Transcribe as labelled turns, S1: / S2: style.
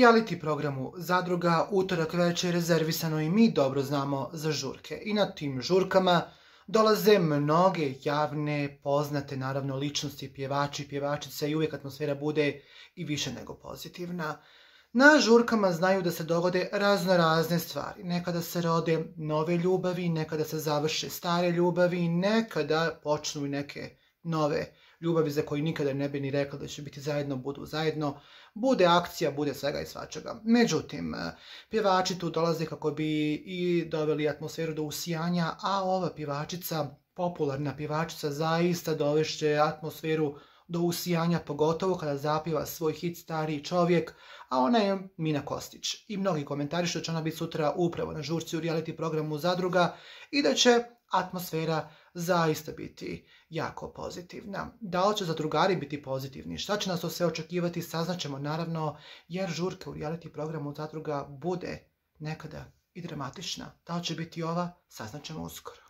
S1: reality programu Zadruga utorak večer rezervisano i mi dobro znamo za žurke. I na tim žurkama dolaze mnoge javne, poznate naravno ličnosti, pjevači, pjevačice i uvijek atmosfera bude i više nego pozitivna. Na žurkama znaju da se dogode razne stvari. Nekada se rode nove ljubavi, nekada se završe stare ljubavi, nekada počnu i neke nove ljubavi za koje nikada ne bi ni rekla da će biti zajedno, budu zajedno. Bude akcija, bude svega i svačega. Međutim, pjevači tu dolaze kako bi i doveli atmosferu do usijanja, a ova pjevačica, popularna pjevačica, zaista dovešće atmosferu do usijanja, pogotovo kada zapjeva svoj hit Stariji čovjek, a ona je Mina Kostić. I mnogi komentarišu da će ona biti sutra upravo na žurci u reality programu Zadruga i da će atmosfera zaista biti jako pozitivna. Da li će zadrugari biti pozitivni? Šta će nas to sve očekivati? Saznaćemo naravno, jer žurka u reality programu Zadruga bude nekada i dramatična. Da li će biti ova? Saznaćemo uskoro.